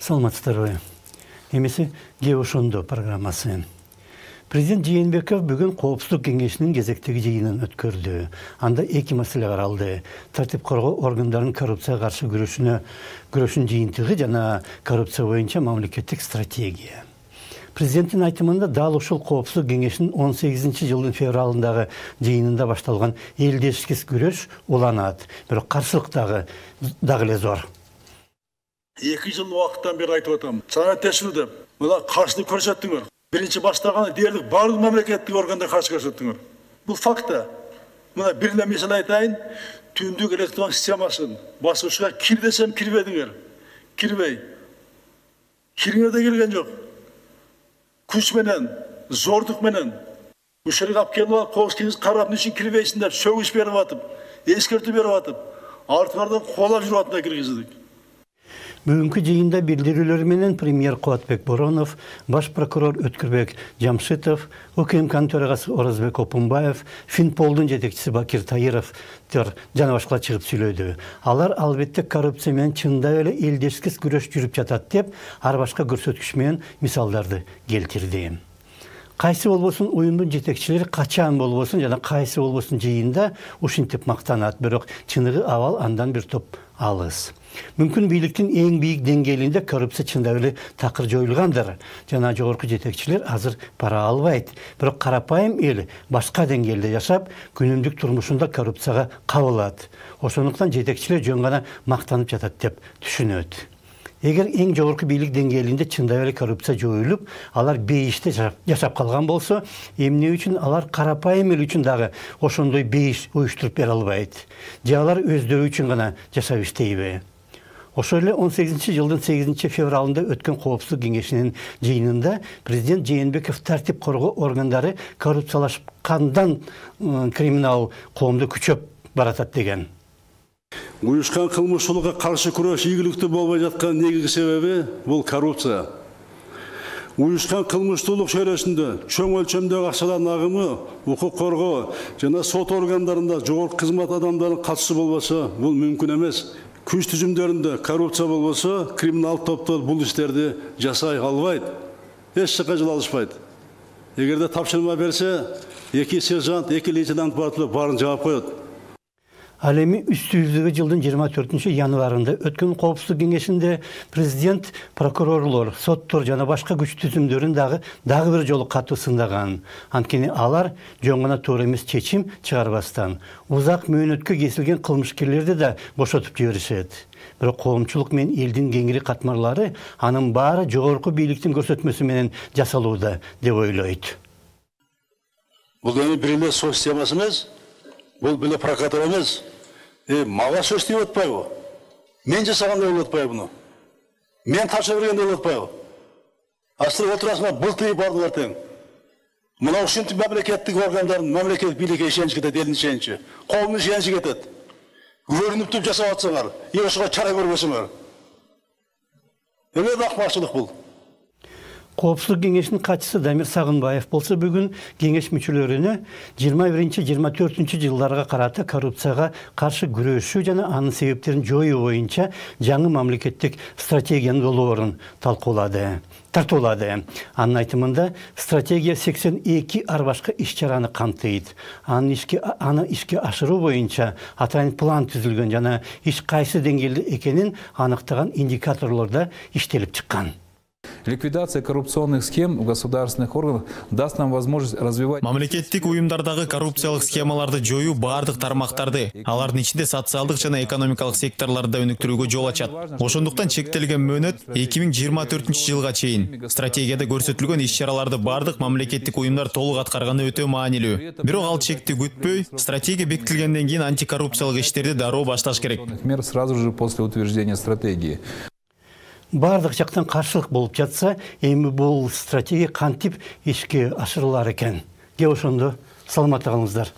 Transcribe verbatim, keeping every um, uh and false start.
Саламатсыздарбы. Эмеси Ге ошондо программасы. Президент Жээнбеков бүгүн Коопсуздук кеңешинин кезектеги жыйынын өткөрдү. Анда эки маселе каралды. Тартип коргоо органдарынын коррупцияга каршы күрөшүнө күрөшүн жыйынтыгы жана коррупция боюнча мамлекеттик стратегия. Президенттин айтымында дал ушул Коопсуздук кеңешинин он сегизинчи жылдын февралындагы жыйынында башталган элдешкис күрөш уланат. Бирок каршылык дагы дагы эле зор. Эки жыл убакыттан бери айтып атам. Чана тешилде мына каршылык көрсөттүңөр. Биринчи баштаган дээрлик барлык мамлекеттик органдар каршы көрсөттүңөр. Бул факта. Мына бир эле мисал айтайын. Түндүк электрон системасын баскычка кир десем кирбедиңер. Кирбей. Кириңер да келген жок. Күч менен, зордук менен ушерге алып келип коопсуздук карап үчүн кирбейсиң деп сөгүш берип атып, эскертүү берип атып, артыңардан кубалап жүрүп атып киргиздик. Бүгүнкү жыйында билдирүүлөр менен премьер Кубатбек Боронов, баш прокурор Өткүрбек Жамшитов, УКМКнын төрагасы Оразбек Опунбаев, Финполдун жетекчиси Бакир Таиров жана башкалар чыгып сүйлөдү. Алар албетте коррупция менен чындап эле элдешкис күрөш жүрүп жатат деп, ар башка көрсөткүч менен мисалдарды келтирди. Кайсы болбосун уюмдун жетекчилери качан болбосун жана кайсы болбосун жыйында ушинтип мактанат, бирок чыныгы абал андан бир топ алыс. Мүмкүн бийликтин эң бийик деңгээлинде коррупция чындап эле такыр жоюлгандыр жана жогорку жетекчилер азыр бара албайт. Бирок карапайым эл башка деңгээлде жашап, күнүмдүк турмушунда коррупцияга кабылат. Ошондуктан жетекчилер жөн гана мактанып жатат деп түшүнөт. Эгер эң жогорку бийлик деңгээлинде чындап эле коррупция жоюлуп, алар бейиште жашап калган болсо, эмне үчүн алар карапайым эл үчүн дагы ошондой бейиш уюштуруп бере албайт? Же алар өздөрү үчүн гана жашап иштейби? Ошол эле он сегизинчи жылдын сегизинчи февралында өткөн Коопсуздук кеңешинин жыйынында президент Жээнбеков тартип коргоо органдары коррупциялашкандан криминал коомду күчөп баратат деген. Уюшкан кылмыштуулукка каршы күрөш ийгиликтүү болбой жаткан негизги себеби бул коррупция. Уюшкан кылмыштуулук чөйрөсүндө чоң өлчөмдөгү акчалардын агымы, укук коргоо жана сот органдарында жогорку кызмат адамдарынын катышуусу болбосо, бул мүмкүн эмес. Күч түзүмдөрүндө коррупция болбосо, криминал топтор бул иштерди жасай албайт. Эч жакка жол алышпайт. Эгерде тапшырма берсе, эки сержант, эки лейтенант барып баарын жаап коет. Ал эми үстүбүздөгү жылдын жыйырма төртүнчү январында өткөн Коопсуздук кеңешинде президент прокурорлор, соттор жана башка күч түзүмдөрүн дагы дагы бир жолу катуу сындаган. Анткени алар жөн гана туура эмес чечим чыгарбастан узак мөөнөткө кесилген кылмышкерлерди да бошотуп жиберишет. Бирок коомчулук менен элдин кеңири катмарлары анын баары жогорку бийликтин көрсөтмөсү менен жасалууда деп ойлойт. Бул эми бир эле сот системасы эмес, бул беле прокуратура эмес. Э, мага сөз тийип атпайбы? Мен жасагандай болуп атпайбы буну? Мен тапшырып бергендей болуп атпайбы? Астыр отурасыңар былтый бардылар тең. Мына ушинтип мамлекеттик органдардын, мамлекеттик бийликке ишенич кетет, элдин ишеничи. Коомдун ишеничи кетет. Көрүнүп туруп жасап атсаңар, же ошого чара көрбөсөңөр. Эмне акмакчылык бул? Коопсуздук кеңешинин катчысы Дамир Сагынбаев болсо бүгүн кеңеш мүчөлөрүнө жыйырма биринчи жыйырма төртүнчү жылдарга карата коррупцияга каршы күрөшүү жана анын себептерин жоюу боюнча жаңы мамлекеттик стратегиянын долбоорун талкуулады. Тартуулады. Анын айтымында стратегия сексен эки ар башка иш-чараны камтыйт. Аны ишке аны ишке ашыруу боюнча атайын план түзүлгөн жана иш кайсы деңгээлде экенин аныктаган индикаторлордо иштелип чыккан. Ликвидация коррупционных схем в государственных органах даст нам возможность развивать... Мамлекеттик уюмдардагы коррупциялык схемаларды жоюу баардык тармактарды, алардын ичинде социалдык жана экономикалык секторлорду өнүктүрүүгө жол ачат. Ошондуктан чектелген мөөнөт эки миң жыйырма төртүнчү жылга чейин. Стратегияда көрсөтүлгөн иш-чараларды баардык мамлекеттик уюмдар толук аткарганы өтө маанилүү. Бирок ал чекти күтпөй, стратегия бекитилгенден кийин антикоррупциялык иштерди дароо башташ керек. Мер сразу же после утверждения стратегии. Бардык жактан каршылык болуп жатса, эми бул стратегия кантип ишке ашырылар экен? Ге ошондо саламатта калыңыздар.